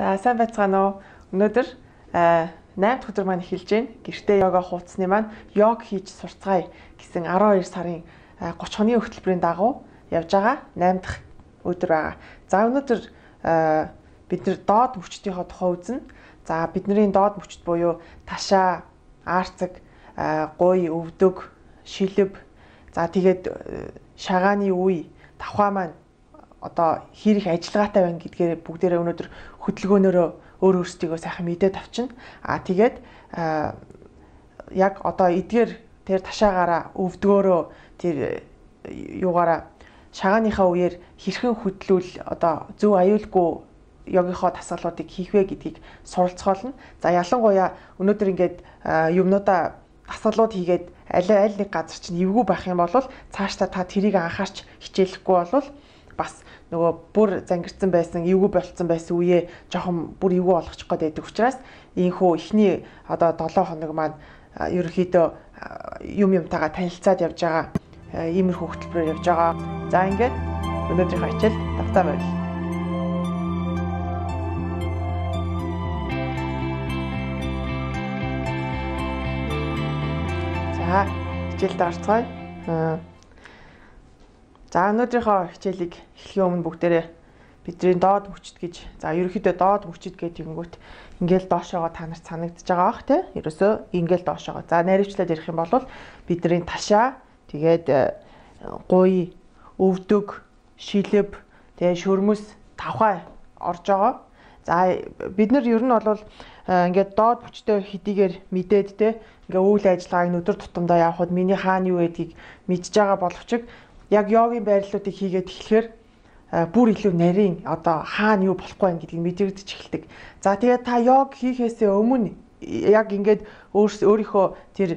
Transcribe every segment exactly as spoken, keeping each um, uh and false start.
За сайн байцгаана уу. Өнөөдөр наймд өдөр маань эхэлж байна. Гэртээ йога хуудасны маань йог хийж сурцгаая гэсэн арван хоёр сарын гурван хоногийн хөтөлбөрийн дагуу явж байгаа наймд дахь өдөр байгаа. За өнөөдөр бид нэр доод мөчтийнхөө тухай үзнэ. За бидний доод мөчт буюу ташаа, аарцаг, гуй, өвдөг, шилб, за тэгээд шагааны үе, давхаа маань одоо хэр их ажиллагаатай байна гэдгээр бүгдээрээ өнөөдөр хөдөлгөөнөөрөө өөр өөрсдийгөө сайхан мэдээд авчина. Аа тэгээд яг одоо эдгээр тэр ташаагаараа өвдгөөрөө тэр юугаараа шагааныхаа үеэр хэрхэн хөдлүүл одоо зөв аюулгүй йогийнхоо дасгалуудыг хийх вэ гэдгийг суралцгаална. За ялангуяа өнөөдөр ингээд юмнуудаа дасгалууд хийгээд аль аль нэг газар чинь эвгүй байх юм бол цаашдаа та тэрийг анхаарч хичээлэхгүй бол бас нөгөө бүр зангирсан байсан, эвгүй болцсон байсан үеэ жоохон бүр эвгүй болгочих гээд байдаг учраас ийхүү ихний одоо долоо хоног маань ерөнхийдөө юм юмтайгаа танилцаад явж байгаа иймэрхүү хөтөлбөрөөр явж байгаа. За ингээд өнөөдрийнхөө хичээл давтаа байрлал. За хичээлд орцгоё. За өнөөдрийнхөө хичээлийг эхлэхийн өмнө бүгдээрээ бидний доод мөчт гэж за ерөнхийдөө доод мөчт гэдэг юмгүйт ингээл доошоогоо та нарт санагдаж байгаа бах тий. Ерөөсөө ингээл доошоогоо. За найруулчлаад ярих юм бол бидний ташаа, тэгээд гуй, өвдөг, шилб, тэгээд шөрмөс, давхаа орж байгаа. За бид нар ер нь бол ингээд доод мөчтөө хэдийгээр мэдээд тий ингээ үйл ажиллагааг өдөр тутамдаа явахад миний хаана юу гэдгийг мэдж байгаа боловч яг йогийн байрлалуудыг хийгээд эхлэхээр бүр илүү нарийн одоо хаана юу болохгүй байх гэдгийг мэдэрдэж эхэлдэг. За тэгээд та йог хийхээсээ өмнө яг ингээд өөрийнхөө тэр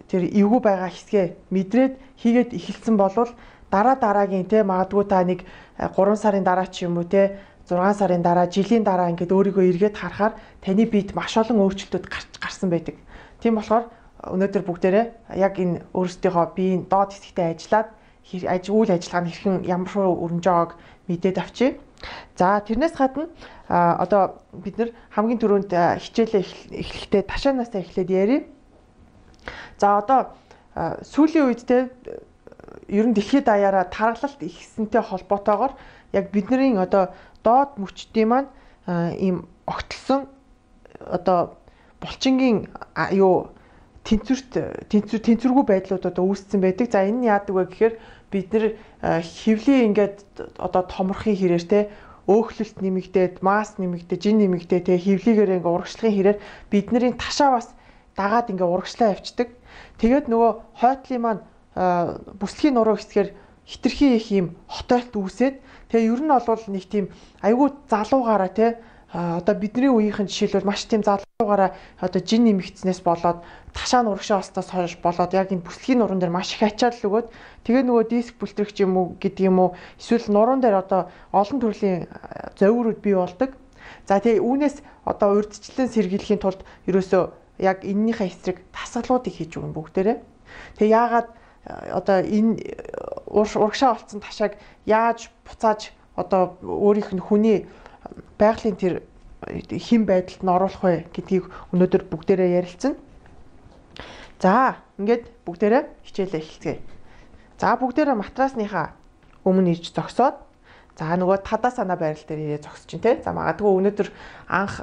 тэр эвгүй байгаа хэсгээ мэдрээд хийгээд эхэлсэн болвол дараа дараагийн те магадгүй та нэг гурван сарын дараа ч юм уу те зургаан сарын дараа жилийн дараа ингээд өөрийгөө эргээд харахаар таны биед маш олон өөрчлөлтүүд гарсан байдаг. Тийм болохоор өнөөдөр бүгдээрээ яг энэ өөрсдийнхөө биеийн доод хэсэгтээ ажиллаад үйл ажиллагаа нь хэрхэн ямар шоу өрнөж байгааг мэдээд авчи. За тэрнээс гадна одоо бид нар хамгийн түрүүнд хичээлээ эхлэхдээ ташаанаасаа эхлээд ярив. За одоо сүүлийн үед те ер нь дэлхийд даяараа тархалт ихсэнтэй холбоотойгоор яг бидний одоо доод мөчтийн маань ийм огтлсон одоо булчингийн юу тэнцвэрт тэнцвэр тэнцвэргүй байдлууд одоо үүссэн байдаг. За энэ нь яадаг вэ гэхээр бид нэр хөвлийн ингээд одоо томрохын хэрээр те өөхлөлт нэмэгдээд, масс нэмэгдээд, жин нэмэгдээд те хөвлийгээр ингээд урагшлагын хэрээр бидний ташаа бас дагаад ингээд урагшлаа явцдаг. Тэгээд нөгөө хойтлын маань бүслийн нуруу хэсгээр хитрхи их юм хотойлт үүсээд тэгээ ер нь бол нэг тийм айгүй залуугаараа те одоо бидний үеийнхэн жишээлбэл маш тийм залуугаараа одоо жин нэмэгдснээс болоод ташаа нурагшаа болсноос хойш болоод яг энэ бүслэгийн нуруунд дээр маш их ачаал өгөөд тэгээ нөгөө диск бүлтрэгч юм уу гэдэг юм уу эсвэл нуруунд дээр одоо олон төрлийн зовирууд бий болдог. За тэгээ үүнээс одоо урьдчилан сэргийлэхийн тулд ерөөсөө яг энэнийхээ эсрэг дасгалуудыг хийж өгнө бүгдээрээ. Тэгээ яагаад одоо энэ урагшаа болцсон ташааг яаж буцааж одоо өөрийнх нь хүний байгалийн тэр хэм байдалд нь оруулах вэ гэдгийг өнөөдөр бүгдээрээ ярилцсан. За ингээд бүгдээрээ хичээлээ эхэлцгээе. За бүгдээрээ матрасныхаа өмнө ирж зогсоод за нөгөө тадаа санаа байрал дээр ирээ зогсож чинь те. За магадгүй өнөөдөр анх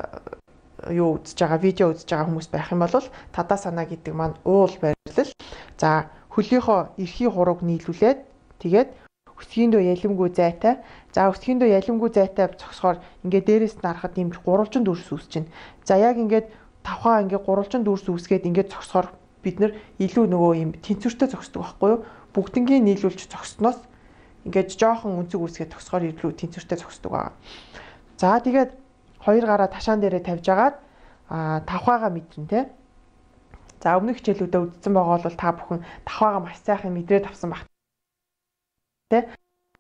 юу үзэж байгаа видео үзэж байгаа хүмүүс байх юм бол тадаа санаа гэдэг маань уул байрлал. За хөлийнхөө эрхий хурууг нийлүүлээд тэгээд өсгийндөө ялимгүй зайтай. За өсгийндөө ялимгүй зайтай зогсохоор ингээд дээрээс нь харахад юм гурвалжин дүрс үүсэж байна. За яг ингээд тавхаа ингээд гурвалжин дүрс үүсгээд ингээд зогсохоор бид нар илүү нөгөө юм тэнцвэртэй зогсдог байхгүй юу? Бүгднгийн нийлүүлж зогсноос ингээд жоохон өнцөг үүсгээд зогсохоор илүү тэнцвэртэй зогсдог байгаа. За тэгээд хоёр гараа ташаан дээрээ тавьж агаад тавхаагаа мэдэн те. За өмнөх хичээлүүдэд үздсэн байгаа бол та бүхэн давхаагаа маш сайхан мэдрээд авсан баг. Тэ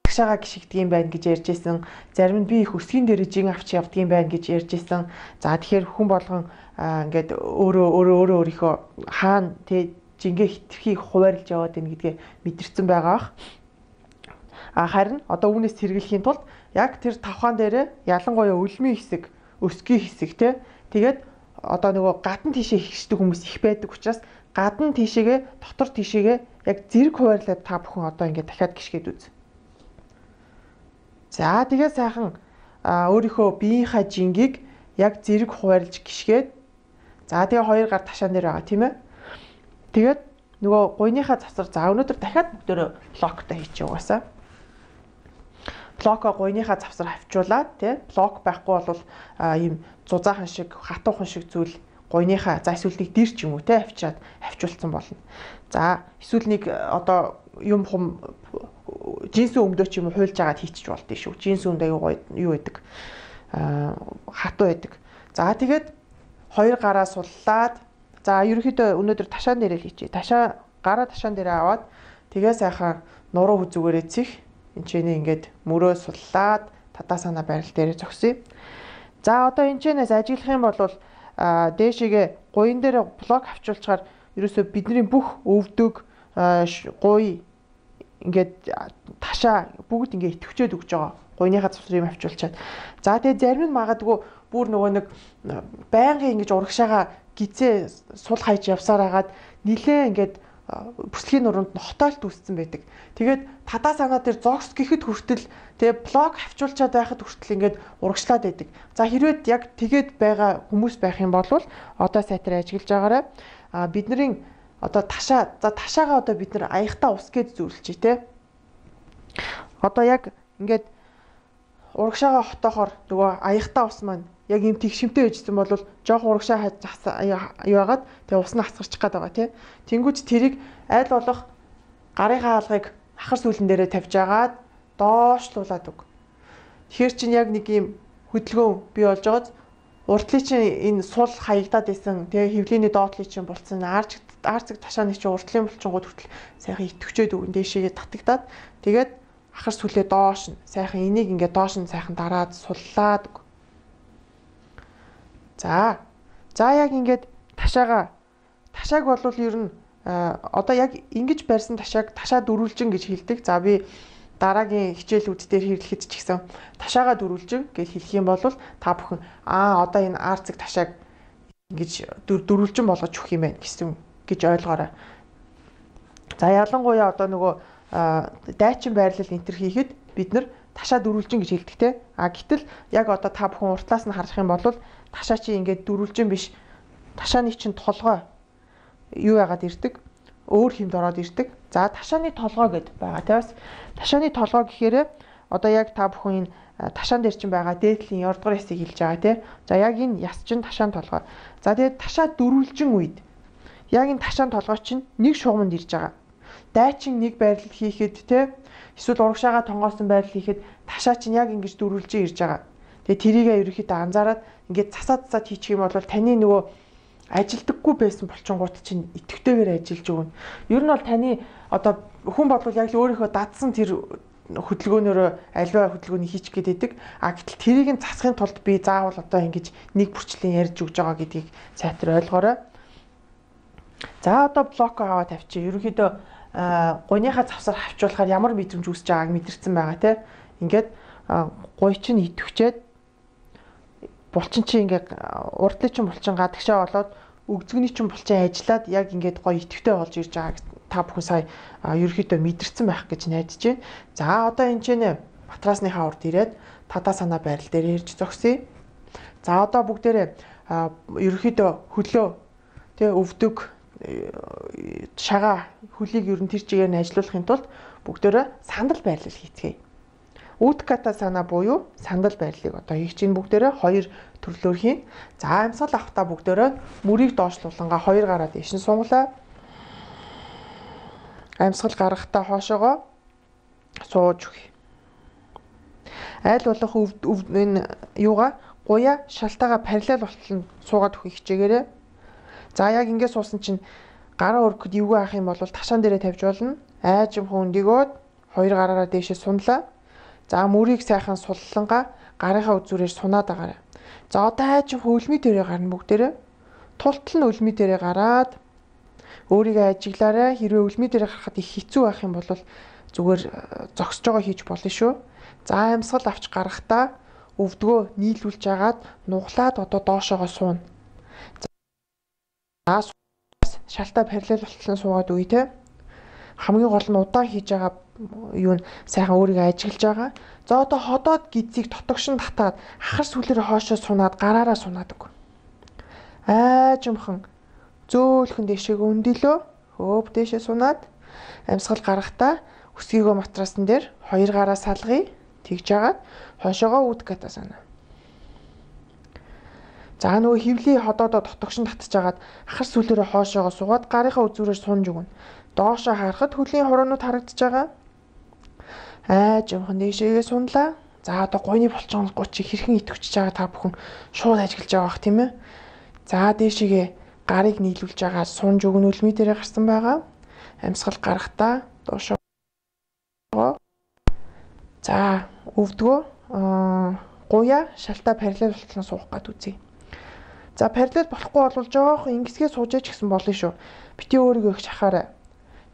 ташаагаа гიშгдэг юм байна гэж ярьж байсан. Зарим нь би их өсгийн дээр жин авч явдаг юм байна гэж ярьж байсан. За тэгэхээр хүн болгон ингээд өөрөө өөрөө өөрөө өөрийнхөө хаана тэ жингээ хитрхи хуваарлж яваад байна гэдгээ мэдэрсэн байгаа бах. А харин одоо үүнээс сэргийлэхийн тулд яг тэр тавхаан дээрээ ялангуяа үлмийн хэсэг, өсгийн хэсэг те. Тэгээд одоо нөгөө гадна тийшээ хийхдэг хүмүүс их байдаг учраас гадна тийшээгээ дотор тийшээгээ яг зэрэг хуваарлаад та бүхэн одоо ингээд дахиад гიშгээд үз. За тэгээд сайхан өөрийнхөө биеийнхаа жингийг яг зэрэг хуваарлж гიშгээд за тэгээ хоёр гар ташаан дээр байгаа тийм ээ. Тэгээд нөгөө гуйныхаа завсар за өнөөдөр дахиад бүгдөө блоктой хийчих угаасаа. Блоко гуйныхаа завсар хавчуулаад тий блок байхгүй бол ийм зузаахан шиг хатуухан шиг зүйл гуйныхаа за эсвэл нэг дэр ч юм уу тий авчиад авчуулсан болно. За эсвэл нэг одоо юм хум жинсэн өмдөө ч юм уу хуйлж агаад хийчих болдгий шүү. Жинсэн өмдөө аюу юу байдаг аа хатуу байдаг. За тэгээд хоёр гараа суллаад за ерөнхийдөө өнөөдөр ташаан дээрээ л хийчихье. Ташаа гараа ташаан дээрээ аваад тэгээ сайхан нуруу хүзүүгээрээ цих энэ ч ингээд мөрөө суллаад татаа санаа байрал дээрээ зогсъё. За одоо энэ чэнээс ажиглах юм бол дээшээгээ гуйн дээр блок авчуулчаар ерөөсөө бидний бүх өвдөг гуй ингээд ташаа бүгд ингээд итгэвчээд өгч байгаа. Гуйныхаа завсрыг авчуулчаад. За тэгээ зарим нь магадгүй бүр нөгөө нэг байнгын ингэж урагшаага гизээ сул хайж явсаар хагаад нилээ ингээд бүслэгийн нуруунд хотойлт үүссэн байдаг. Тэгээд тадаа санаа дээр зогс гэхэд хүртэл тэгээ блок авчуулчаад байхад хүртэл ингээд урагшлаад байдаг. За хэрвээ яг тэгээд байгаа хүмүүс байх юм бол одоо сайтар ажиглаж байгаарай. А бидний одоо ташаа за ташаагаа одоо бид нэр аягтаа ус гэж зөвлөчий те. Одоо яг ингээд урагшаага хотоохоор нөгөө аягтаа ус маань яг юм тэгшимтэй байжсэн бол жоох урагшаа яагаад тэгээ ус нь хасгарчих гээд байгаа тий. Тэнгүүч тэрийг айл болох гарынхаа хаалгыг ахар сүүлэн дээрээ тавьж агаад доошлуулад өг. Тэгэхээр чинь яг нэг юм хөдөлгөөн бий болж байгааз уртлын чинь энэ сул хаягдаад исэн тэгээ хөвлөний доотлын чинь болцсон аарч аарцэг ташааны чинь уртлын булчингууд хүртэл сайхан итгэвчээд өгөн дээшээ татагдаад тэгээд ахар сүлээ доош нь сайхан энийг ингээд доош нь сайхан дараад суллаад өг. За. За яг ингээд ташаага ташааг бол ер нь одоо яг ингэж барьсан ташааг ташаа дөрвөлжин гэж хэлдэг. За би дараагийн хичээлүүд дээр хэрэглэхэд ч гэсэн ташаага дөрвөлжин гэж хэлэх юм бол та бүхэн аа одоо энэ аарцэг ташааг ингэж дөрвөлжин болгож өгөх юм байна гэсэн гэж ойлгоорой. За ялангуяа одоо нөгөө дайчин байрлал энтер хийхэд бид нар ташаа дөрвөлжин гэж хэлдэг те. А гэтэл яг одоо та бүхэн уртлаас нь харах юм бол ташаа чи ингээд дөрвөлжин биш. Ташааны чинь толгой юу яагаад ирдэг? Өөр хэмд ороод ирдэг. За ташааны толгой гэд байгаа те. Бас ташааны толгой гэхээр одоо яг та бүхэн энэ ташаан дээр чинь байгаа дээдлийн ярдгар ясыг хэлж байгаа те. За яг энэ яс чинь ташаан толгой. За тэгээд ташаа дөрвөлжин үед яг энэ ташаан толгой чинь нэг шугамд ирж байгаа. Дайчин нэг байрлал хийхэд те эсвэл урагшаага тонгоосон байрлал хийхэд ташаа чинь яг ингэж дөрвөлжин ирж байгаа. Тэгээ тэрийгээ ерөөхдөө анзаараад ингээд засаад засаад хийчих юм бол таны нөгөө ажилдаггүй байсан булчингууд чинь итгэвтэйгээр ажиллаж өгнө. Ер нь бол таны одоо хүн бодвол яг л өөрийнхөө дадсан тэр хөдөлгөөнөөрөө альва хөдөлгөөнийг хийчих гээд байдаг. А гэтэл тэрийг нь засахын тулд би заавал одоо ингэж нэг бүрчлэн ярьж өгж байгаа гэдгийг сайтар ойлгоорой. За одоо блоко аваад тавьчих. Ерөнхийдөө гуйныхаа завсар хавчуулахаар ямар мэдрэмж үүсэж байгааг мэдэрсэн байгаа те. Ингээд гуй чинь итгэвчээд булчин чинь ингээд урдлын чинь булчин гадагшаа болоод өгзгөний чинь булчин ажиллаад яг ингээд гоё итгэвтэй болж ирж байгааг та бүхэн сая ерөөхдөө мэдэрсэн байх гэж найдаж байна. За одоо энэ ч нэ матрасныхаа урд ирээд татаа санаа байрал дээр ирж зогсъё. За одоо бүгдээрээ ерөөхдөө хөлөө тэ өвдөг шагаа хөлийг ер нь тэр чигээр нь ажилуулахын тулд бүгдээрээ сандал байрлал хийцгээе. Үтката санаа буюу сандал байрлалыг одоо хийх чинь бүгдээрээ хоёр төрлөөр хийн. За амьсгал авахтаа бүгдээрээ мөрийг доошлуулангаа хоёр гараа дээш нь сунглаа. Амьсгал гаргахтаа хоошоогоо сууж өгье. Айл болох энэ юугаа гуяа шалтаага параллел болтол суугаад өгөх хичээгээрээ. За яг ингэж суусан чинь гараа өргөхөд эвгүй авах юм бол ташаан дээрээ тавьж болно. Айжимхан өндөгөөд хоёр гараараа дээшээ сунлаа. За мөрийг сайхан суллангаа гарынхаа үзүүрээр сунаад агаарай. За одоо айжимхан өлмий дээрээ гарна бүгдээрээ. Тултал нь өлмий дээрээ гараад өөрийгөө ажиглаарай. Хэрвээ өлмий дээрээ гарахад их хэцүү байх юм бол зүгээр зогсож байгаа хийж болно шүү. За амьсгал авч гарахдаа өвдгөө нийлүүлж агаад нуглаад одоо доошоогоо сууна. За шалтаа параллел болтлон суугаад үе те. Хамгийн гол нь удаан хийж байгаа юу нь сайхан өөрийгөө ажиглаж байгаа. За одоо ходоод гидсийг тотогшин татаад хахар сүлээрээ хоошоо сунаад гараараа сунаад өг. Айжмхан зөөлхөн дэшег өндөлөө хөөп дэшээ сунаад амьсгал гарахдаа өсгийгөө матрасан дээр хоёр гараа салгая. Тэгж агаад хойшоогоо үүдэх гэдэг санаа. За нөгөө хөвлийн ходоодоо тотогшин татж агаад хахар сүлээрээ хоошоогоо суугаад гарынхаа үзүүрээр сунж өгнө. Доошоо харахад хөлийн хуруунууд харагдаж байгаа. Айжмхан дэшээгээ сунлаа. За одоо гойны булчин гучиг хэрхэн идэвчж байгаа та бүхэн шууд ажиглаж байгаа бах тийм ээ. За дэшээгээ гарыг нийлүүлж байгаа сунж өгнө үлми дээрээ гарсан байгаа. Амьсгал гарахдаа доошоо. За өвдгөө гуя шалтаа параллел болтлон суух гад үзье. За параллел болохгүй бол жоох ингэсгээ сууж яж гэсэн болно шүү. Бити өөрийгөө их шахаарай.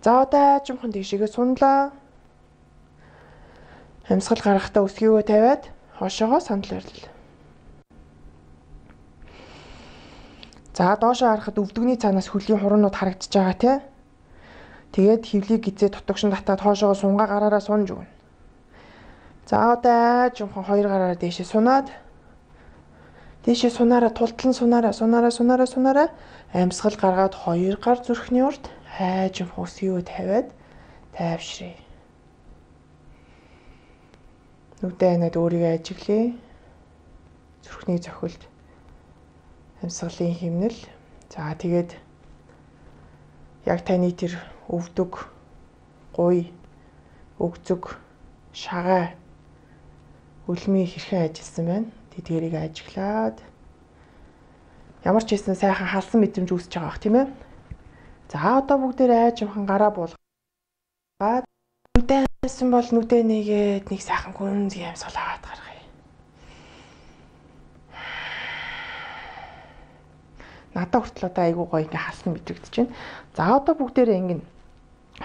За одоо айжмхан дэшээгээ сунлаа. Амьсгал гарахдаа өсгийгөө тавиад хошоогоо сандал байрлал. За доошоо харахад өвдөгний цаанаас хөлийн хуруунууд харагдаж байгаа тий. Тэгээд хөвлийг гизээ тотогшин татаад хоошоогоо сунгаа гараараа сунж өгнө. За одоо айжмхан хоёр гараараа дээшээ сунаад дээшээ сунаараа тултлан сунаараа сунаараа сунаараа сунаараа амьсгал гаргаад хоёр гар зүрхний урд айжмхан өсгийгөө тавиад тайвшрээ. Нүдэ анаад өөрийгөө ажиглая. Зүрхний зохилд амьсгалын хэмнэл. За тэгээд яг таны тэр өвдөг, гуй, өгзөг, шагаа үлмий хэрхэн ажилласан байна. Тэдгэрийг ажиглаад ямар ч хэсэн сайхан халсан мэдрэмж үүсэж байгаа бах тийм ээ. За одоо бүгдээр айжмхан гараа буулгаад нүдэнсэн бол нүдэ нэгээд нэг сайхан гүнзгий амьсгал аваад гаргая. Надад хүртэл одоо айгуу гоё ингээ халсан мэдрэгдэж байна. За одоо бүгдээрээ ингэ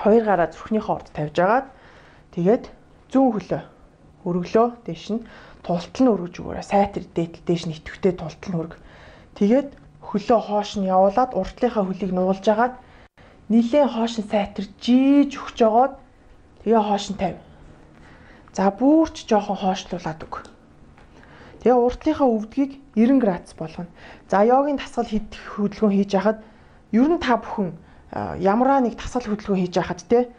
хоёр гараа зүрхнийхээ урд тавьж агаад тэгээд зүүн хөлөө өргөлөө дээш нь тултал нь өргөж өгөөрэй. Сайтар дээтэл дээш нь итгэвтэй тултал нь өрг. Тэгээд хөлөө хоош нь явуулаад уртлынхаа хөлийг нуулж агаад нилээн хоош нь сайтар жийж өгч жогоод тэгээ хоош нь тавь. За бүрч жоохон хоошлуулад өг. Тэгээ уртлынхаа өвдгийг девяносто градус болгоно. За йогийн тасгал хийх хөдөлгөөн хийж хахад ер нь та бүхэн ямараа нэг тасгал хөдөлгөөн хийж хахад те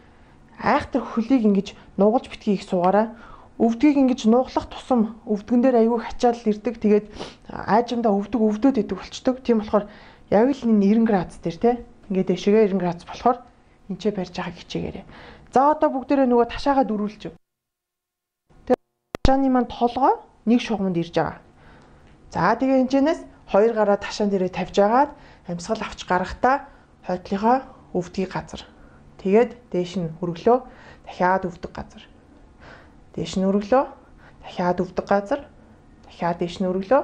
айхтар хөлийг ингэж нугалж битгий их суугаараа. Өвдгийг ингэж нуглах тусам өвдгөн дээр аягүй хачаал ирдэг. Тэгээд айжмдаа өвдөг өвдөд идэг болчдөг. Тийм болохоор яг л энэ девяносто градус дээр те ингээд дэшегээ девяносто градус болохоор энчээ барьж байгааг хичээгээрэй. За одоо бүгдээрээ нөгөө ташаагаа дөрүүлж. Тэгээд ташааны маань толгой нэг шугамд ирж байгаа. За тэгээ энэчнээс хоёр гараа ташаан дээрээ тавьж агаад амьсгал авч гарахдаа хойдлынхоо өвдгийг газар. Тэгээд дээш нь өргөлөө дахиад өвдөг газар. Дээш нь өргөлөө дахиад өвдөг газар. Дахиад дээш нь өргөлөө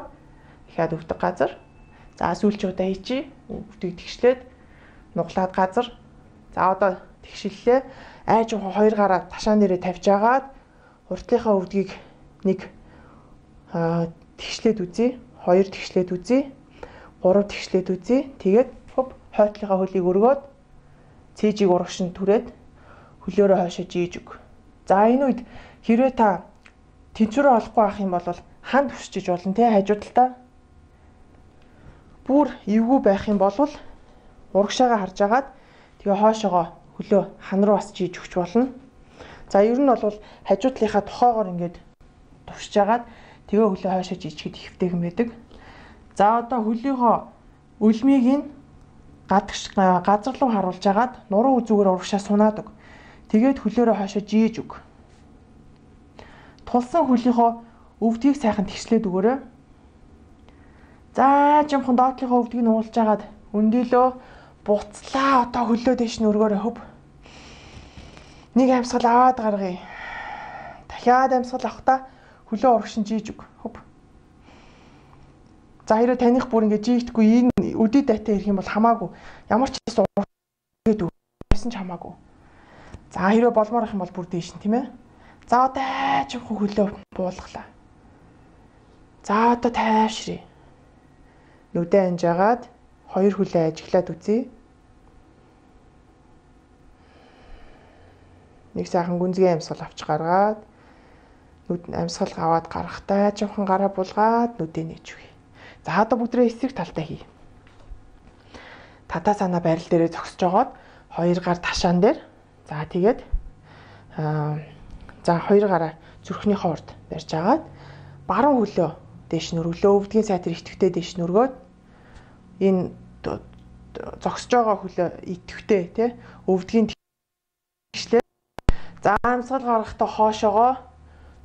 дахиад өвдөг газар. За сүүлч удаа хийчи өвдгийг тэгшлээд нуглаад газар. За одоо тэгшиллээ. Айжмхан хоёр гараа ташаан дээрээ тавьж агаад уртлынхаа өвдгийг нэг тэгшлээд үзье. Хоёр тэгшлээд үзье. Гурав тэгшлээд үзье. Тэгээд хөв хойтлынхаа хөлийг өргөөд цээжийг урагшин түрээд хөлөөрөө хойшоо жийж өг. За энэ үед хэрвээ та тэнцвэрээ олохгүй байх юм бол ханд өсчиж болно те хажуудалтаа. Бүр эвгүй байх юм бол урагшаагаа харж агаад тэгээ хойшоогоо хөлөө хан руу бас жийж өгч болно. За ер нь бол хажуудлынхаа тухайгоор ингээд тувшиж агаад тэгээ хөлөө хойшоо жийчихэд ихвтэйхэн байдаг. За одоо хөлийнхөө үлмийг нь гадагш газар руу харуулж агаад нуруу үзүүгээр урагшаа сунаад өг. Тэгээд хөлөөрөө хойшоо жийж өг. Тулсан хөлийнхөө өвдгийг сайхан тэгшлээд өгөөрэй. За жимхэн доотлынхоо өвдгийг нуулж агаад өндөлөө буцлаа. Одоо хөлөө дэш нь өргөөрэй хөв. Нэг амьсгал аваад гаргая. Дахиад амьсгал авахдаа хөлөө урагшин жийж өг хөв. За хэрэг таних бүр ингэ жийгдэхгүй энэ өдөө дайтай ирэх юм бол хамаагүй. Ямар ч хэсэг урагшин өгсөн ч хамаагүй. За хэрэг болмоор их юм бол бүр дээш нь тийм ээ. За одоо айжхан хөлөө буулгалаа. За одоо тайвшрий. Нүдэ анжаагаад хоёр хөлөө ажиглаад үзье. Нэг сайхан гүнзгий амьсгал авч гаргаад нүд амьсгал аваад гарахтаа айжхан гараа булгаад нүдэ нээж өгье. За одоо бүгдрээ эсрэг талдаа хий. Татаа санаа барил дээрээ зогсож жогоод хоёр гар ташаан дээр. За тэгээд аа за хоёр гараа зүрхнийхээ урд барьж агаад баруун хөлөө дээш нүрглөө, өвдгийн сайтар итгэвтэй дээш нүргөөд энэ зогсож байгаа хөлөө итгэвтэй тий өвдгийн тэгшлээ. За амьсгал гаргахдаа хоошоогоо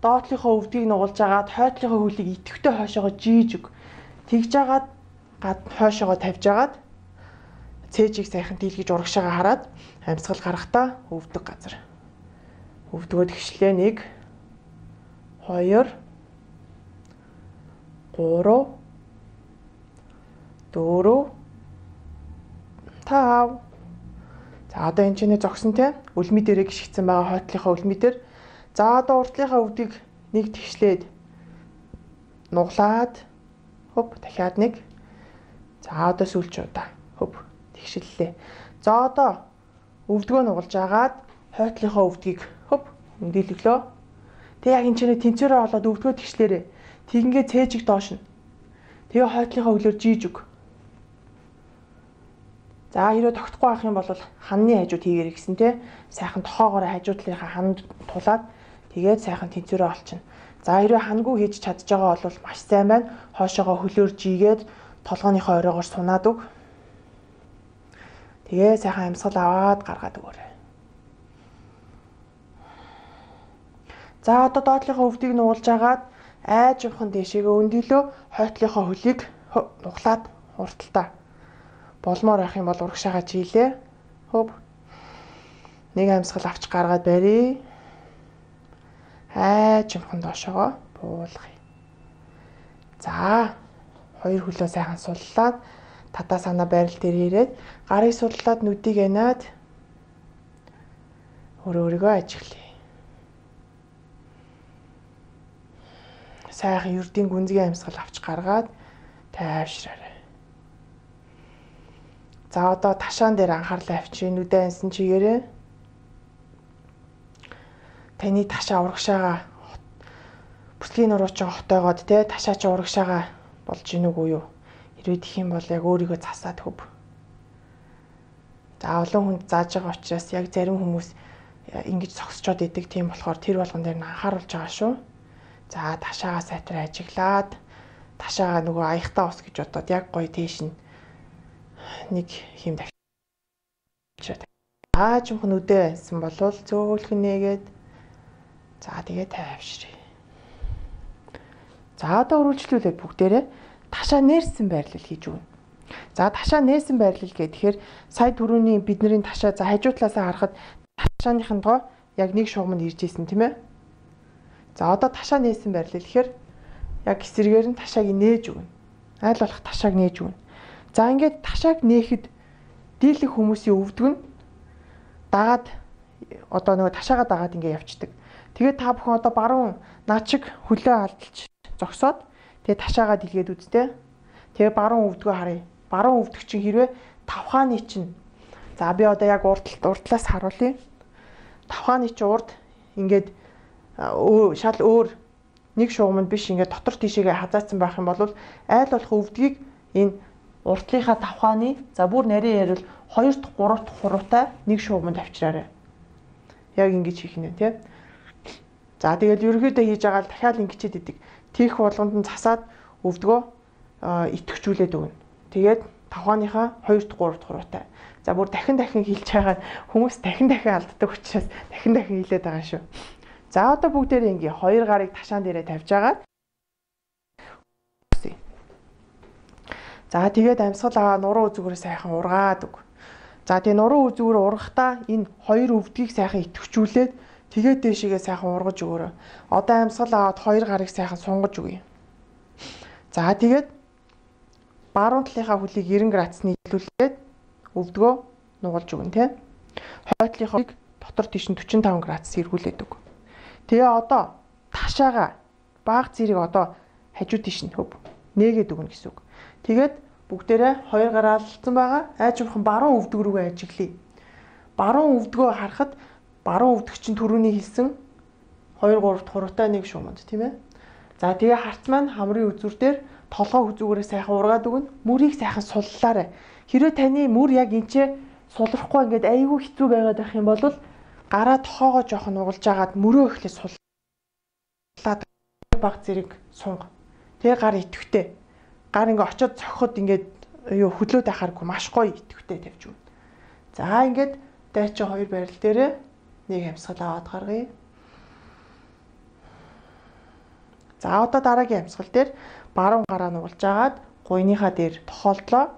доотлийнхоо өвдгийг нугалж агаад хойдлынхоо хөлийг итгэвтэй хоошоогоо жийж өг. Тэгж агаад гад хойшоогоо тавьж агаад цээжийг сайхан дийлгэж урагшаага хараад амьсгал гаргахдаа өвдөг газар. Өвдгөөд гिचлээ нэг хоёр гурав дөрөв тав. За одоо энэ чинь зогсон те үлми дээрээ гიშгцэн байгаа хойтлынхаа үлми дээр. За одоо уртлынхаа өвдгийг нэг тэгшлээд нуглаад хөп дахиад нэг. За одоо сүүлч удаа хөп тэгшиллээ. За одоо өвдгөө нугалж агаад хойтлынхаа өвдгийг хөп өндөлөглөө. Тэг яг энэ чинь тэнцвэрээ олоод өвдгөө тэгшлээрээ. Тэгингээ цээжиг доош нь. Тэгээ хойтлынхаа өглөөр жийж өг. За хэрэг тогтохгүй байх юм бол ханны хажууд хийгэр гэсэн те. Сайхан тохоогоор хажуу талынхаа ханд тулаад тэгээд сайхан тэнцвэрээ олчихно. За хэрэг хангүй хийж чадж байгаа бол маш сайн байна. Хоошоогоо хөлөөр жийгээд толгооныхоо оройгоор сунаад өг. Тэгээ сайхан амьсгал аваад гаргаад өгөөрэй. За одоо доотлынхаа өвдгийг нугалж агаад айжхан дэшегээ өндөлөө хойтлынхаа хөлийг нуглаад хурдталтаа болмоор байх юм бол урагшаага жийлээ. Хөп. Нэг амьсгал авч гаргаад барья. Айжхан доошоо буулгая. За хоёр хөлөө сайхан суллаад татаа санаа байрал дээр ирээд гарыг сурлаад нүдийг анаад өөрөө өөрийгөө ажиглая. Сайхан ердийн гүнзгий амьсгал авч гаргаад тайвшраарай. За одоо ташаан дээр анхаарлаа авчи нүдэ ансан чигээрээ таны ташаа урагшаага бүсгийн нурууч хотойгоод те ташаа чи урагшаага болж гин үгүй юу? Хэрвээ тэх юм бол яг өөрийгөө засаад хөв. За олон хүнд зааж байгаа учраас яг зарим хүмүүс ингэж зогсчоод идэг тийм болохоор тэр болгон дээр нь анхааруулж байгаа шүү. За ташаагаа сайтар ажиглаад ташаагаа нөгөө аягтаа ус гэж бодоод яг гоё тийш нь нэг хим дахиж. Аа чимхэн үдээ байсан болвол зөөлхөн нээгээд за тэгээ тайвшрий. За одоо үргэлжлүүлээд бүгдээрээ ташаа нээрсэн байрлал хийж өгнө. За ташаа нээсэн байрлал гэхээр сая түрүүний бидний ташаа за хажуу талаасаа харахад ташааныхын доо яг нэг шугамд ирж исэн тийм ээ. За одоо ташаа нээсэн байрлал гэхээр яг эсрэгээр нь ташааг нээж өгнө. Айл болох ташааг нээж өгнө. За ингээд ташааг нээхэд дийлэх хүмүүсийн өвдөг нь дагаад одоо нөгөө ташаагаа дагаад ингээд явцдаг. Тэгээд та бүхэн одоо баруун наачиг хөлөө алдалж зогсоод тэгээд ташаагаа дэлгээд үзтээ. Тэгээ баруун өвдгөө харъя. Баруун өвдөг чинь хэрвээ тавхааны чинь. За би одоо яг урд урдлаас харуулъя. Тавхааны чинь урд ингээд шал өөр нэг шугамд биш ингээд дотор тишээгээ хазаацсан байх юм бол айл болох өвдгийг энэ уртлынхаа тавхааны за бүр нарийн ярил хоёр дахь гурав дахь хуруутай нэг шугамд авчраарай. Яг ингэж хийх нэ тий. За тэгэл ерөөхдөө хийж байгаа л дахиад ингэчээд идэг. Тийх болгонд нь засаад өвдгөө итгэвчүүлээд өгнө. Тэгээд тавхааныхаа хоёр дахь гурав дахь хуруутай. За бүр дахин дахин хэлж байгаа хүмүүс дахин дахин алддаг учраас дахин дахин хэлээд байгаа шүү. За одоо бүгдээрээ ингээ хоёр гарыг ташаан дээрээ тавьж агаад за тэгээд амьсгал аваа нуруу үзүүрээ сайхан ургаад өг. За тэгээд нуруу үзүүрээ ургахдаа энэ хоёр өвдгийг сайхан итгэвчүүлээд тэгээд дээшээгээ сайхан ургаж өгөөрэй. Одоо амьсгал аваад хоёр гарыг сайхан сунгаж өгье. За тэгээд баруун талынхаа хөлийг девяносто градусны нийлүүлээд өвдгөө нугалж өгнө тий. Хойтлынхоо дотор тийш нь forty-five градус эргүүлээд өг. Тэгээ одоо ташаага баг зэрэг одоо хажуу тийш нь хөв нээгээд өгнө гэсэн үг. Тэгээд бүгдээрээ хоёр гараа алдсан байгаа. Айж бурхан баруун өвдөг рүүгээ ажиглая. Баруун өвдгөө харахад баруун өвдөг чинь түрүүний хэлсэн хоёр гурав хуруутай нэг шуманд тийм ээ. За тэгээ харц маань хамрын үзүр дээр толгой үзүүгээрээ сайхан ургаад өгнө. Мөрийг сайхан суллаарай. Хэрвээ таны мөр яг энчээ сулрахгүй ингээд айгүй хэцүү байгаад байх юм бол гараа тохоогоо жоох нь угалж агаад мөрөө ихлэ суллаад баг зэрэг сунга. Тэгээ гар итгэвтэй. Гар ингээ очиод цохоход ингээд юу хөдлөөд байхааргүй маш гоё итгэвтэй тавьж өгнө. За ингээд дайчин хоёр барил дээрээ нэг амьсгал аваад гаргая. За одоо дараагийн амьсгал дээр баруун гараа нугалж агаад гуйныхаа дээр тохиолдлоо.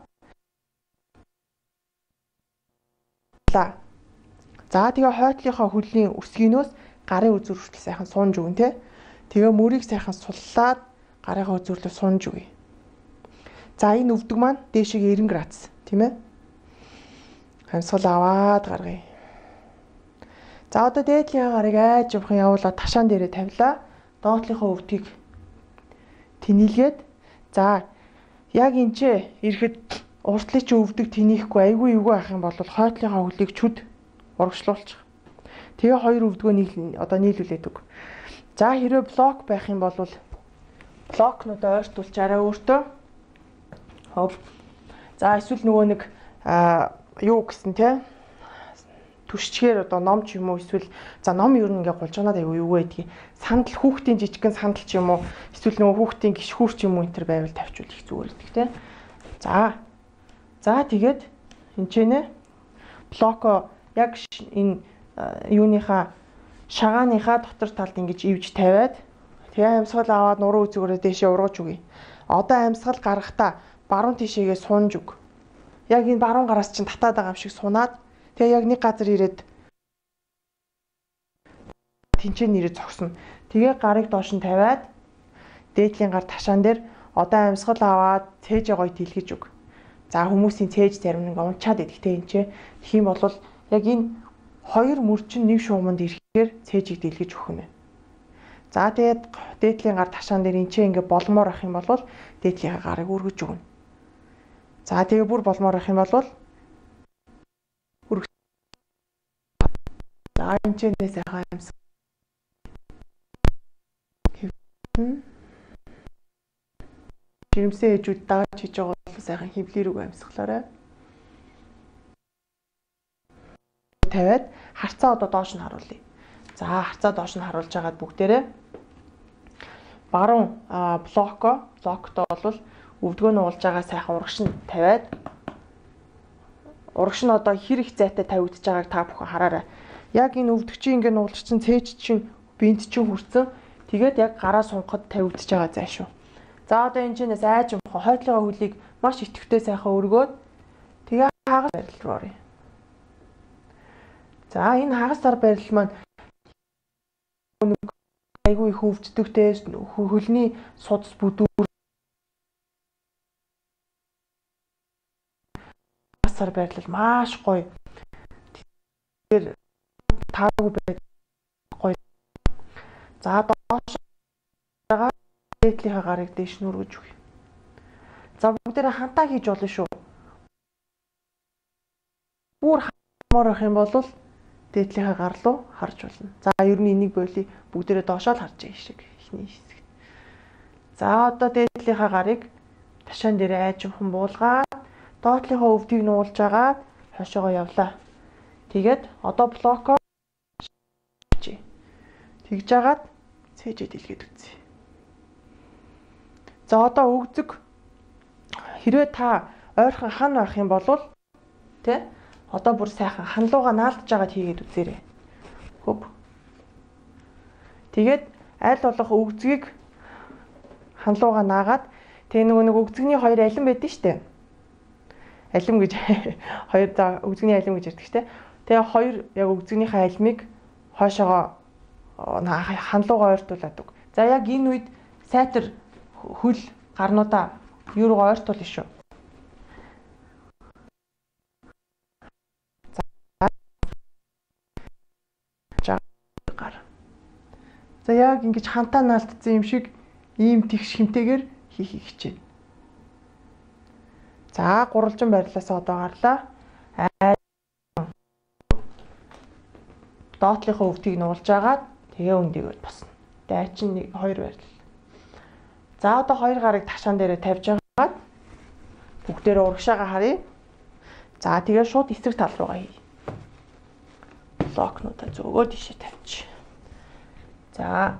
За тэгээ хойтлынхаа хөлийн өсгийнөөс гарын үзүүр хүртэл сайхан сунж өгнө те. Тэгээ мөрийг сайхан суллаад гарынхаа үзүүрлөө сунж өгье. За энэ өвдөг маань дээшээ девяносто градус тийм ээ. Амьсгал аваад гаргая. За одоо дээдлийн гарыг айж явахын явуулаад ташаан дээрээ тавилаа. Доотлынхаа өвдгийг тэнийлгээд за яг энчээ ирэхэд уртлын чи өвдөг тэнийхгүй айгүй эвгүй ах юм бол хойтлынхаа хөлийг чүд урагшлуулчих. Тэгээ хоёр өвдгөө нийл одоо нийлүүлээд өг. За хэрвээ блок байх юм бол блокнууд ойртуулж арай өөртөө. Хоп. За эсвэл нөгөө нэг юу гэсэн те түшчгээр одоо ном ч юм уу эсвэл за ном ер нь ингээ гулжганаад аягүй юу гэдгийг сандал хүүхдийн жижигхэн сандал ч юм уу эсвэл нөгөө хүүхдийн гişхүүр ч юм уу энэ төр байвал тавьчвал их зүгээр гэдэг те. За. За тэгээд энэ ч нэ блоко яг энэ юуныхаа шагааныхаа дотор талд ингэж ивж тавиад тэгээ амьсгал аваад нуруу үзүүрээ дээшээ ургаж өгье. Одоо амьсгал гаргахдаа баруун тишээгээ сунж өг. Яг энэ баруун гараас чинь татаад байгаа юм шиг сунаад тэгээ яг нэг газар ирээд тэнцэн нэрээ зогсно. Тэгээ гарыг доош нь тавиад дээдлийн гар ташаан дээр одоо амьсгал аваад цээж гоё тэлгэж өг. За хүмүүсийн цээж зарим нэг унчаад идэгтэй энэ ч тэгэх юм бол яг энэ хоёр мөрчин нэг шууманд ирэхээр цээжийг дэлгэж өгөх юм байна. За тэгээд дээдлийн гар ташаан дээр энэ ч ингээ болмоор ах юм бол дээдлийн гарыг өргөж өгнө. За тэгээ бүр болмоор ах юм бол өргөж. За энэ ч нэ сайхан юмс. Жирэмсэн ээжүүд дааж хийж байгаа бол сайхан хөвлөрөг амьсгалаарай. тавиад харцаа одоо доош нь харуулъя. За харцаа доош нь харуулж агаад бүгдээрээ баруун блоко блокто бол өвдгөө нь уулж байгаа сайхан урагш нь тавиад урагш нь одоо хэр их зайтай тавигдж байгааг та бүхэн хараарай. Яг энэ өвдөгчийн ингээ нуулгачсан цээж чинь бинт чинь хүрсэн. Тэгээд яг гараа сунгахад тавигдж байгаа зай шүү. За одоо энэ чинээс айж юмхан хойтлогоо хөлийг маш идэвхтэй сайхан өргөөд тэгээ хагас барил руу оръё. За энэ хагас сар барил маань айгүй их өвддөгтэй хөлний судас бүдүүр хагас сар барил маш гоё. Тэгэхээр таагүй байд гоё. За доош байгаа дээдлийнхаа гарыг дээш нь өргөж өгье. За бүгдээрээ хантаа хийж болно шүү. Бүр хамаар ах юм бол дээдлийнхаа гар руу харж болно. За ер нь энийг бойлоо бүгдээрээ доошоо л харж байгаа шиг ихний хэсэг. За одоо дээдлийнхаа гарыг ташаан дээр айжмхан буулгаад доотлийнхаа өвдгийг нуулж агаад хойшоогоо явлаа. Тэгээд одоо блоко тэгж агаад цээжээ дэлгээд үзье. За одоо өгзөг хэрвээ та ойрхон хан байх юм бол тэ одоо бүр сайхан ханлууга наалдж агаад хийгээд үзээрэй. Хөп. Тэгээд аль болох өгзгийг ханлууга наагаад тэг нөгөө нэг өгзөгний хоёр алим байдэн штэ. Алим гэж хоёр за өгзөгний алим гэж ярьдаг штэ. Тэгээ хоёр яг өгзөгнийхээ алимыг хойшоогоо ханлууга ойртуулад өг. За яг энэ үед сайтар хөл гарнуудаа юу руу ойртуулна шүү. За гар. За яг ингэж хантаа наалтцсан юм шиг ийм тэгш хэмтэйгээр хийхийг хичээнэ. За гурвалжин байрлалаас одоо гарлаа. Доотлийнхоо өвдгийг нуулж агаад тэгээ өндөгөөд босно. Дайчин нэг хоёр байрлал. За одоо хоёр гарыг ташаан дээрээ тавьж агаад бүгдээрээ урагшаага харъя. За тэгээ шууд эсрэг тал руугаа хий. Блокнуудаа зөөгөө тишээ тавьчих. За.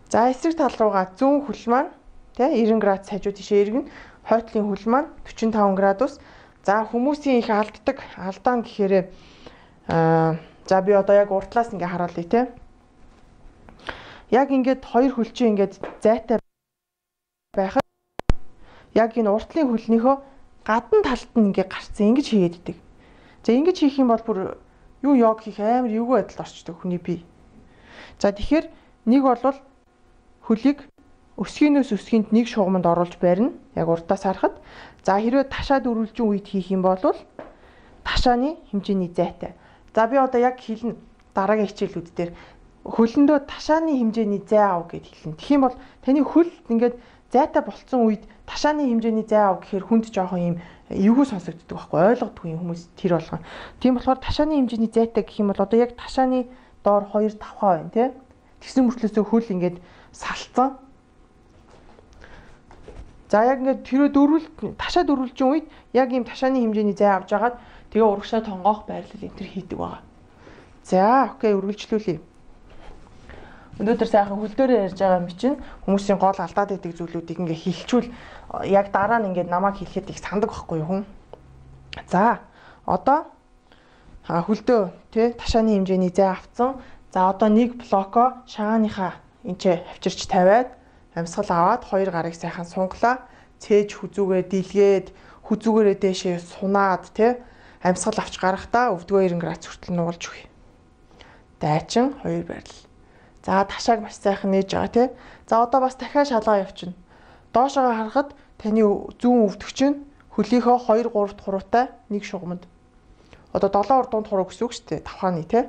За эсрэг тал руугаа зүүн хөл маань тэ девяносто градус хажуу тишээ эргэн, хойтлын хөл маань forty five градус. За хүмүүсийн их алддаг алдаан гэхээр аа за би одоо яг уртлаас ингээ хараалъя те. Яг ингээд хоёр хөл чинь ингээд зайтай байхад яг энэ уртлын хөлнийхөө гадна талд нь ингээ гарцсан ингэж хийгээддэг. За ингэж хийх юм бол бүр юу йог хийх амар эвгүй байдал орчдөг хүний бие. За тэгэхээр нэг бол хөлийг өсгийнөөс өсгийнд нэг шугамд оруулж барина. Яг урдаас харахад. За хэрвээ ташаад өрүүлжин үед хийх юм бол ташааны хэмжээний зайтай. За би одоо яг хэлнэ дараагийн хичээлүүд дээр хөлөндөө ташааны хэмжээний зай ав гэд хэлнэ. Тэгэх юм бол таны хөл ингээд зайтай болцсон үед ташааны хэмжээний зай ав гэхээр хүнд жоохон юм эвгүй сонсогддог байхгүй ойлгодгүй юм хүмүүс тэр болгоо. Тийм болохоор ташааны хэмжээний зайтай гэх юм бол одоо яг ташааны доор two five байна тий. Тэгсэн мөртлөөсөө хөл ингээд салцсан. За яг ингээд тэрөө дөрвөл ташаад дөрвөлжин үед яг ийм ташааны хэмжээний зай авч агаад тэгээ урагшаа тонгоох байрлал энэ төр хийдэг байгаа. За окей үргэлжлүүлье. Өнөөдөр сайхан хөл дээрээ ярьж байгаа юм чинь хүмүүсийн гол алдаад байдаг зүйлүүдийг ингээ хилчүүл яг дараа нь ингээ намайг хэлэхэд их сандаг байхгүй юу хүн. За одоо хөлдөө тий ташааны хэмжээний зай авцсан. За одоо нэг блоко шагааныхаа энчээ авчирч тавиад амьсгал аваад хоёр гарыг сайхан сунглаа. Цээж хүзүүгээ дийлгээд хүзүүгээрээ дээшээ сунаад тий амьсгал авч гарахдаа өвдгөө ninety градус хүртэл нуулж өгье. Дайчин хоёр байрлал. За ташааг маш сайхан нээж байгаа тий. За одоо бас дахиад шалгаа явчихна. Доошоо харахад таны зүүн өвдөгч нь хөлийнхөө two three хуруутай нэг шугамд. Одоо seven урдуунд хуруу гэсэн үг шүү дээ. Тавхааны тий.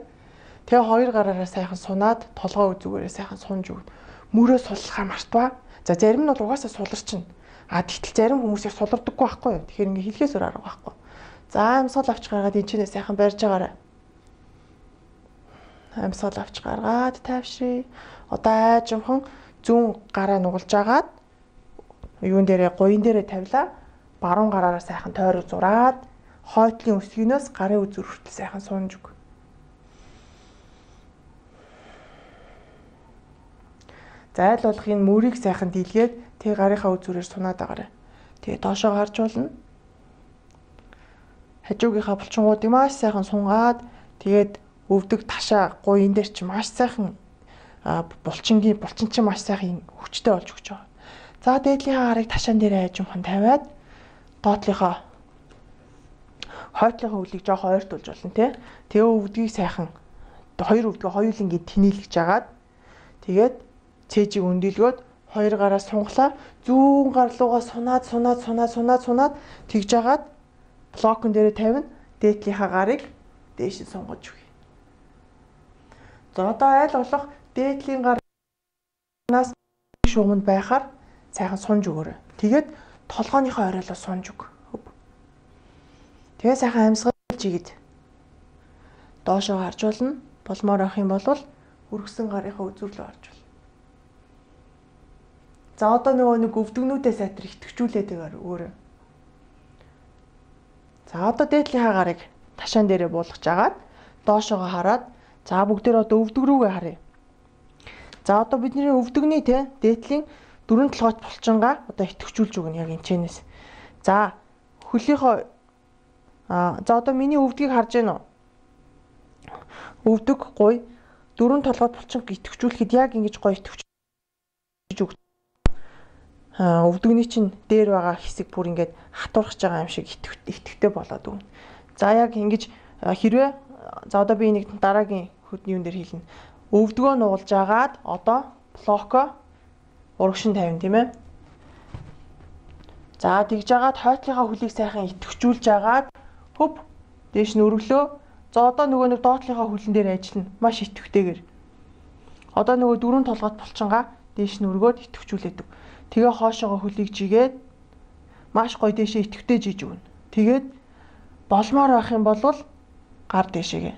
Тэгээ хоёр гараараа сайхан сунаад толгой үзүүгээрээ сайхан сунж өгнө. Мөрөө суллахаа мартваа. За зарим нь бол угаасаа суларчин. А тэгтэл зарим хүмүүс их сулардаггүй байхгүй юу. Тэгэхээр ингээ хэлхээс өөр арга байхгүй. За амьсгал авч гаргаад энэ чинээ сайхан барьж агаарай. Амьсгал авч гаргаад тайвшрий. Одоо айжмхан зүүн гараа нугалж агаад юун дээрээ гуйн дээрээ тавилаа. Баруун гараараа сайхан тойрог зураад хойтлын өсгийнөөс гарын үзүүр хүртэл сайхан сунж өг. За айл болох энэ мөрийг сайхан дийлгээд тэг гарынхаа үзүүрээр сунаад агаарай. Тэгээ доошоо гарч болно. Хажуугийнхаа булчингуудыг маш сайхан сунгаад тэгээд өвдөг ташаа гуйн дээр чи маш сайхан булчингийн булчин чи маш сайхан хүчтэй болж өгч байгаа. За дээдлийнхаа гарыг ташаан дээр айжмхан тавиад доотлийнхоо хойтлынхаа хөлийг жоохон ойртуулж болно тий. Тэгээ өвдгийг сайхан хоёр өвдгөө хоёулангийн тэнэлгэж агаад тэгээд цээжийг өндөлгөөд хоёр гараа сунглаа зүүн гар руугаа сунаад сунаад сунаад сунаад сунаад тэгж агаад блокон дээрээ тавина дээдлийнхаа гарыг дээш сунгаж өгье. За одоо айл болох дээдлийн гарнаас шугамд байхаар сайхан сунж өгөөрэй. Тэгээд толгойнхоо оройлоо сунж өг. Тэгээ сайхан амьсгалж игээд доошоо харж болно. Болмоор авах юм бол үргэсэн гарынхаа үзүүрлөө харж болно. За одоо нөгөө нэг өвдгнүүдээ сайтар итгэвчүүлээд байгаа өөрөө. За одоо дээдлийнхаа гарыг ташаан дээрээ буулгаж агаад доошоогоо хараад за бүгдээр одоо өвдөг рүүгээ харъя. За одоо бидний өвдөгний те дээдлийн дөрвөн толгойт булчингаа одоо итгэвчүүлж өгнө яг энэчнээс. За хөлийнхөө а за одоо миний өвдгийг харж байна уу? Өвдөг гуй дөрвөн толгойт булчин итгэвчүүлэхэд яг ингэж гоё итгэвчүүлж өг. А өвдөгний чинь дээр байгаа хэсэг бүр ингээд хатуурхаж байгаа юм шиг итгэвтэй болоод өгнө. За яг ингэж хэрвээ за одоо би нэг дараагийн хөдний юм дээр хэлнэ. Өвдгөө нуулж агаад одоо блоко урагшин тавина тийм ээ. За тэгж агаад хойтлынхаа хөлийг сайхан итгэвчүүлж агаад хөп дээш нь өргөлөө. За одоо нөгөө нэг доотлынхаа хөлн дээр ажиллана. Маш итгэвтэйгээр. Одоо нөгөө дөрөв толгойд булчингаа дээш нь өргөөд идэвхжүүлээдэг. Тэгээ хоошоогоо хөлийг жигээд маш гоё дээшээ идэвхтэй жиж өгнө. Тэгээд болмоор байх юм бол гар дээшээгээ.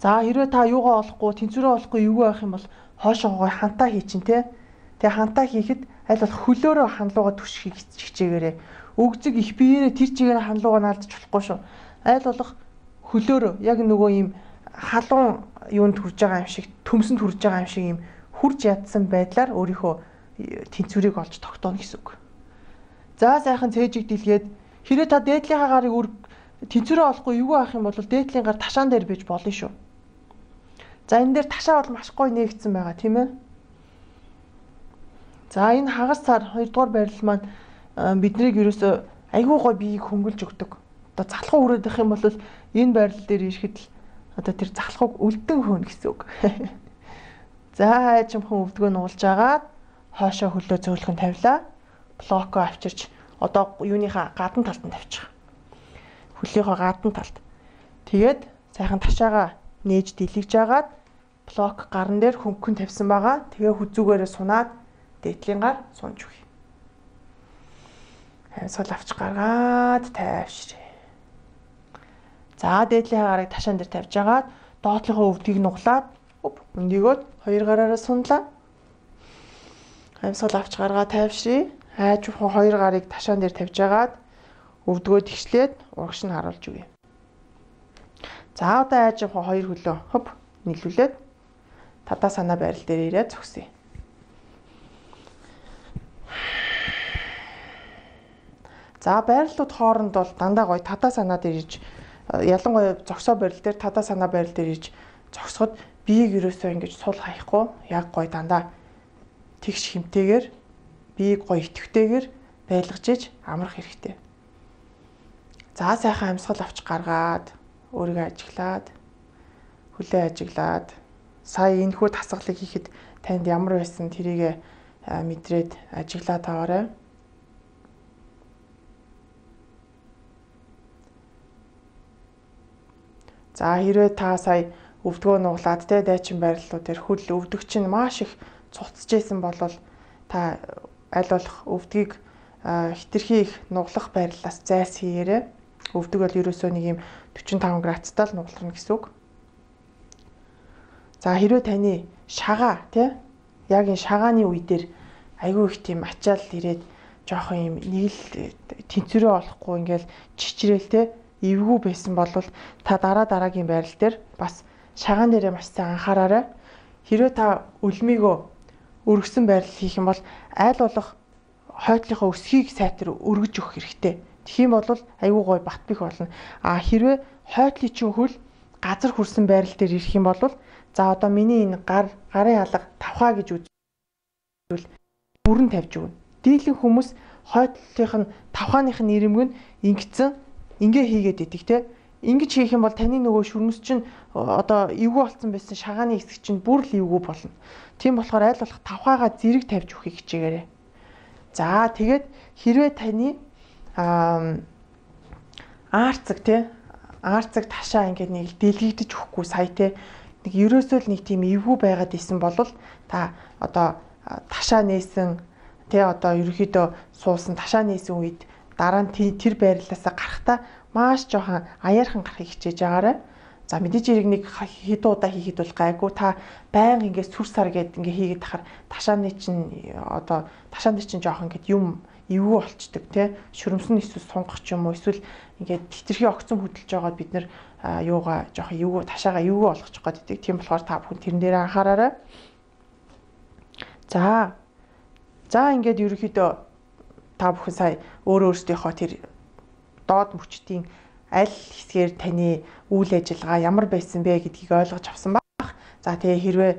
За хэрвээ та юугаа олохгүй, тэнцвэрээ олохгүй юу байх юм бол хоошоогоо хантаа хий чин тэ. Тэгээ хантаа хийхэд аль болох хөлөөрөө ханлууга түшхийг хичээгээрээ. Өгзөг их биеэрээ тэр чигээр ханлууга наалдаж болохгүй шүү. Аль болох хөлөөрөө яг нөгөө ийм халуун юунд хүрж байгаа юм шиг, төмсөнд хүрж байгаа юм шиг ийм хурж ядсан байдлаар өөрийнхөө тэнцвэрийг олж тогтооно гэсэн үг. За сайхан цээжиг дэлгээд хэрэг та дээдлийнхаа гарыг үр тэнцвэрээ олохгүй юу авах юм бол дээдлийн гар ташаан дээр бийж болно шүү. За энэ дээр ташаа бол маш гоё нээгдсэн байгаа тийм ээ. За энэ хагас цаар хоёрдугаар байрал маань биднийг ерөөсөө айгүй гоё биеийг хөнгөлж өгдөг. Одоо залхуу хүрээд байх юм бол энэ байрал дээр ирэхэд л одоо тэр залхууг үлдэн хөөнө гэсэн үг. За хайчмхан өвдгөө нуулж агаад хоошоо хөлөө зөөлхөн тавилаа. Блоко авчирч одоо юуныхаа гадна талд нь тавьчих. Хөлийнхөө гадна талд. Тэгээд сайхан ташаага нээж дэлгэж агаад блок гарн дээр хөнгөн тавьсан байгаа. Тэгээ хүзүүгээрээ сунаад дээдлийн гар сунж өгье. Амьсгал авч гаргаад тайвширъя. За дээдлийн гарыг ташаан дээр тавьж агаад доотлийнхоо өвдгийг нуглаад өндөгөөд хоёр гараараа сунлаа. Амьсгал авч гаргаад тайвширъя. Хайж хоёр гарыг ташаан дээр тавьж агаад өвдгөө тэгшлээд урагш нь харуулж өгье. За одоо айж хоёр хөлөө хоп нийлүүлээд татаа санаа байрал дээр ирээд зогсъё. За байрлалууд хооронд бол дандаа гоё татаа санаа дээр ирж ялангуяа зогсоо байрал дээр татаа санаа байрал дээр ирж зогсоход биеийг ерөөсөө ингэж сул хаяхгүй яг гоё дандаа тэгш хэмтэйгээр биеийг гоё идэвхтэйгээр байлгаж иж амрах хэрэгтэй. За сайхан амьсгал авч гаргаад өөрийгөө ажиглаад хүлээ ажиглаад сая энэхүү тасгалыг хийхэд танд ямар байсан тэрийг мэдрээд ажиглаад аваарай. За хэрвээ та сая өвдгөө нуглаад те дайчин байрлалууд дээр хөл өвдөг чинь маш их цуцж исэн бол та аль болох өвдгийг хитрхи их нуглах байрлалаас зайс хийгээрэй. Өвдөг бол ерөөсөө нэг юм forty-five градустай л нугларна гэсэн үг. За хэрвээ таны шагаа тий яг энэ шагааны үе дээр айгүй их тийм ачаал ирээд жоохон юм нэг л тэнцвэрээ олохгүй ингээл чичрээл тий эвгүй байсан бол та дараа дараагийн байрал дээр бас шагаан дээрээ маш сайн анхаараарай. Хэрвээ та үлмийгөө өргөсөн байрал хийх юм бол аль болох хойтлынхоо өсгийг сайтар өргөж өгөх хэрэгтэй. Тэгэх юм бол айгүй гой бат бих болно. А хэрвээ хойтлын чинь хөл газар хүрсэн байрал дээр ирэх юм бол за одоо миний энэ гар гарын алга тавхаа гэж үзвэл бүрэн тавьж өгнө. Дийлэн хүмүүс хойтлынх нь тавхааных нь ирэмг нь ингэсэн ингээ хийгээд идэг те. Ингэж хийх юм бол таны нөгөө шүрмэс чинь одоо эвгүй болсон байсан шагааны хэсэг чинь бүр л эвгүй болно. Тийм болохоор аль болох тавхаагаа зэрэг тавьж өгөхийг хичээгээрэй. За тэгээд хэрвээ таны аарцаг тий аарцаг ташаа ингээд нэг дэлгэгдэж өгөхгүй сая тий нэг ерөөсөө л нэг тийм эвгүй байгаад исэн бол та одоо ташаа нээсэн тий одоо ерөөхдөө суусан ташаа нээсэн үед дараа нь тэр байрлалаасаа гарахтаа маш жоохон аяархан гарахыг хичээж агаарай. За мэдээж хэрэг нэг хэд удаа хийхэд бол гайгүй та байнга ингээд сүр сар гээд ингээд хийгээд тахаар ташааны чинь одоо ташааны чинь жоохон ингээд юм эвгүй болчдөг тий шүрмсэн эсвэл сунгах ч юм уу эсвэл ингээд хитрхи огцон хөдөлж байгаа бид нар юугаа жоохон эвгүй ташаага эвгүй болгочих гээд идэг. Тийм болохоор та бүхэн тэрэн дээр анхаараарай. За за ингээд ерөөхдөө та бүхэн сая өөр өөрсдийнхөө тэр доод мөчтийн аль хэсгээр таны үйл ажиллагаа ямар байсан бэ гэдгийг ойлгож авсан баг. За тэгээ хэрвээ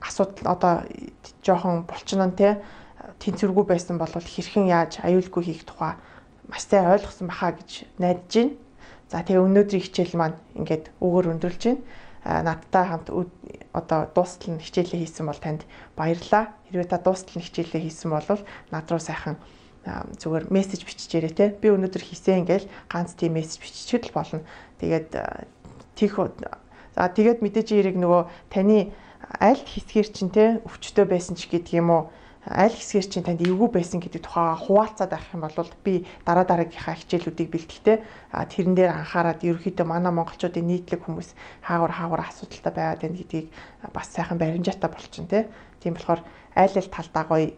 асуудал одоо жоохон булчнаа те тэнцвэргүй байсан бол хэрхэн яаж аюулгүй хийх тухай маш сайн ойлгосон баха гэж найдаж байна. За тэгээ өнөөдрийн хичээл маань ингээд өгөр өндөрлж байна. Надтай хамт одоо дуустал нь хичээлээ хийсэн бол танд баярлалаа. Хэрвээ та дуустал нь хичээлээ хийсэн бол над руу сайхан зүгээр мессеж биччихээрэй те. Би өнөөдөр хийсэн ингээл ганц тийм мессеж биччихэд л болно. Тэгээд тийх за тэгээд мэдээж хэрэг нөгөө таны аль хэсгээр чинь те өвчтөй байсан ч гэдэг юм уу аль хэсгээр чинь танд эвгүй байсан гэдэг тухайга хуваалцаад авах юм бол би дараа дараагийнхаа хичээлүүдийг бэлтгэхдээ тэрэн дээр анхаарад ерөөхдөө манай монголчуудын нийтлэг хүмүүс хаагур хаагур асуудалтай байгаад байна гэдгийг бас сайхан баримжаатай болчихно те. Тийм болохоор аль аль талдаа гоё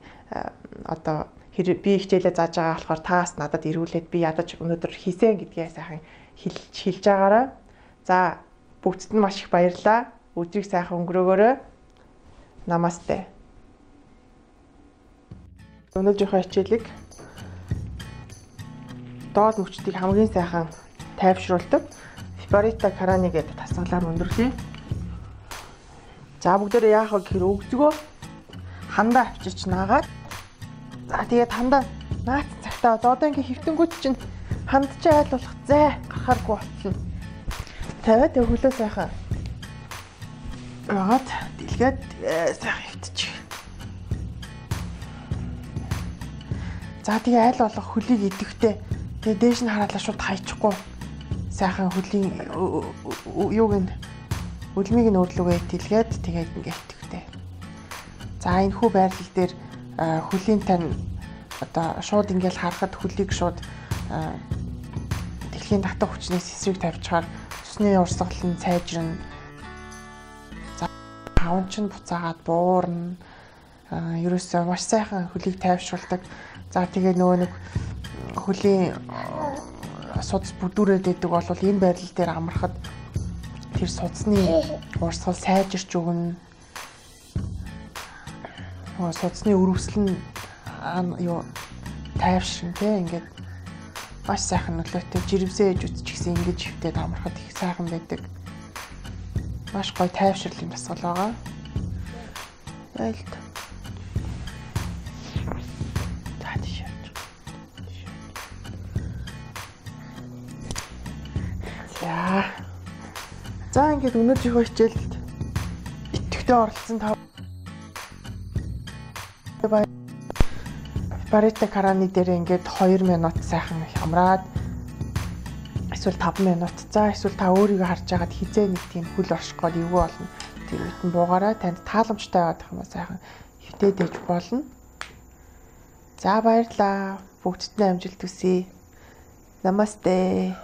одоо би хичээлээ зааж байгаа болохоор таас надад ирүүлээд би ядаж өнөөдөр хийсэн гэдгээ сайхан хэлж хэлж байгаарай. За бүгдд нь маш их баярлалаа. Өдрийг сайхан өнгөрөөгөөрэй. Намасте. Өнөөдрийнхөө хичээлийг доод мөчтийг хамгийн сайхан тайвшруулдаг Випарита Карани гэдэг тасгалаар өндөрлөе. За бүгдээрээ яах вэ гэхээр өгзгөө хандаа авчирч наагаад за тэгээд хандаа наац цагтаа одоо ингээ хөвтөнгүүт чинь хандж айл болох зай гарахааргүй болчихно. Тавиад өглөө сайхан Раад дэлгээд сайхан хөвтчих. За тэгээ айл болох хөлийг идэвхтэй тэгээ дээш нь хараалаа шууд хайчихгүй сайхан хөлийн юуг нь үлмийг нь өрлөгөө дэлгээд тэгээд ингээ идэвхтэй. За энэ хүү байрлал дээр хөлийн тань одоо шууд ингээл харахад хөлийг шууд дэлхийн татах хүчнээс эсрэг тавьчихаар цусны урсгал нь сайжирна. Тавч нь буцаагаад буурна. Ерөөсөө маш сайхан хөлийг тайвшруулдаг. За тэгээ нөгөө нэг хөлийн судас бүдүүрээд идэг бол энэ байрлал дээр амархад тэр судасны урсгал сайжирч өгнө. Нөгөө судасны өрөвсөл нь юу тайвширна те ингээд маш сайхан нөлөөтэй жирэмсээ ээж үтчихсэн ингэж хөвтөд амархад их сайхан байдаг. Маш гоё тайвширлын дасгал байгаа. Ялт. За. За ингээд өнөөдрийнхөө хичээлд итгэвтэй оролцсон та Випарита Карани дээр ингээд хоёр минут сайхан хамраад эсвэл таван минут. За эсвэл та өөрийгөө харж агаад хизээ нэг тийм хөл орших гээд эвгүй болно. Тэр үед нь буугаараа танд тааламжтай байгаад юм сайхан хөвтөд ээж болно. За баярлалаа. Бүгдд нь амжилт хүсье. Намасте.